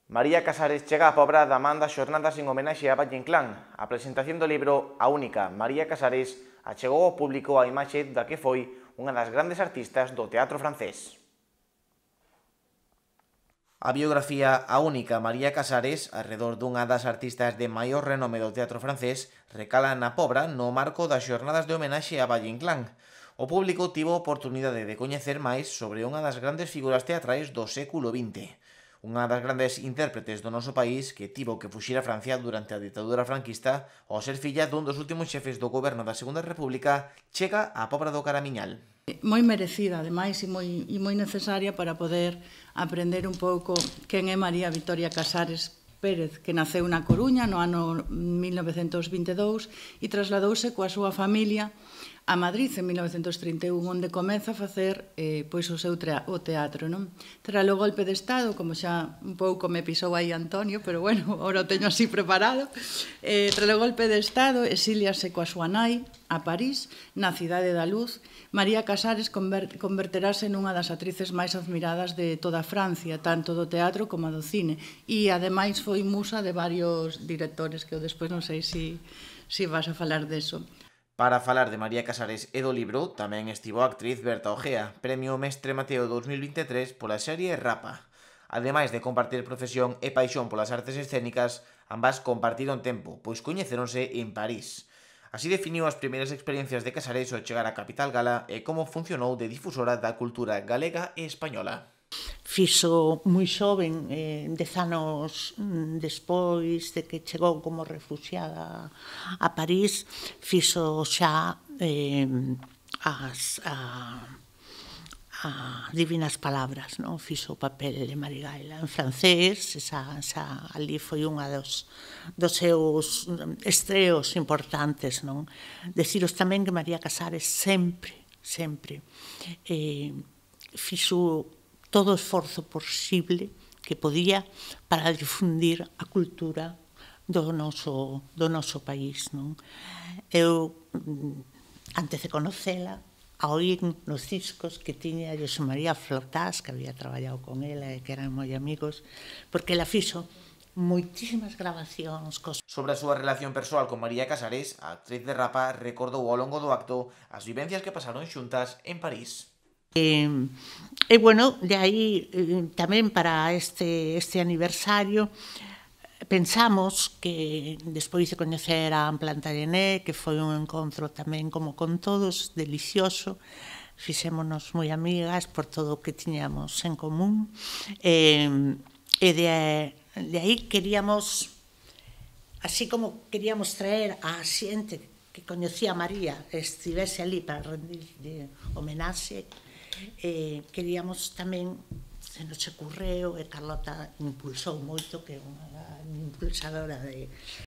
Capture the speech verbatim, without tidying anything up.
María Casares chega á Pobra da man das xornadas en homenaxe a Valle Inclán. A presentación do libro A Única, María Casares, achegou ao público a imaxe da que foi unha das grandes artistas do teatro francés. A biografía A Única, María Casares, arredor dunha das artistas de maior renome do teatro francés, recala na Pobra no marco das xornadas de homenaxe a Valle Inclán. O público tivo a oportunidade de coñecer máis sobre unha das grandes figuras teatrais do século vinte. Unha das grandes intérpretes do noso país que tivo que fuxir a Francia durante a ditadura franquista ao ser filla dun dos últimos xefes do goberno da Segunda República, chega á Pobra do Caramiñal. Moi merecida, ademais, e moi, e moi necesaria para poder aprender un pouco quen é María Victoria Casares Pérez, que naceu na Coruña no ano mil novecentos vinte e dous e trasladouse coa súa familia a Madrid en mil novecentos trinta e un, onde comeza a facer eh, pois o seu o teatro. Non? Tras o golpe de Estado, como xa un pouco me pisou aí Antonio, pero bueno, ahora o teño así preparado, eh, tras o golpe de Estado, exíliase coa súa nai a París, na Cidade da Luz. María Casares converterase nunha das actrices máis admiradas de toda Francia, tanto do teatro como do cine, e ademais foi musa de varios directores, que eu despois non sei se si, si vas a falar deso. Para falar de María Casares e do libro, tamén estivo a actriz Berta Ojea, Premio Mestre Mateo dous mil vinte e tres pola serie Rapa. Ademais de compartir profesión e paixón polas artes escénicas, ambas compartiron tempo, pois coñeceronse en París. Así definiu as primeiras experiencias de Casares ao chegar á capital gala e como funcionou de difusora da cultura galega e española. Fixo moi xoven, eh, dez anos despois de que chegou como refuxiada a París, fixo xa eh, as, a, a Divinas Palabras, non? Fixo o papel de Marigaela en francés, esa, esa, ali foi unha dos, dos seus estreos importantes, non? Deciros tamén que María Casares sempre, sempre eh, fixo todo o esforzo posible que podía para difundir a cultura do noso, do noso país. Non? Eu, antes de conocela, a oír nos discos que tiña José María Flotás, que había traballado con ela e que eran moi amigos, porque ela fixo moitísimas grabacións. Cos... Sobre a súa relación persoal con María Casares, a actriz de Rapa recordou ao longo do acto as vivencias que pasaron xuntas en París. E, e bueno, de aí eh, tamén para este, este aniversario pensamos que despois de coñecer a Plantagenet, que foi un encontro tamén como con todos, delicioso, fixémonos moi amigas por todo o que tiñamos en común, e, e de, de aí queríamos, así como queríamos traer a xente que coñecía a María, estivese ali para rendir homenaxe, eh, queríamos tamén, se nos ocurreu, e Carlota impulsou moito, que é unha impulsadora de,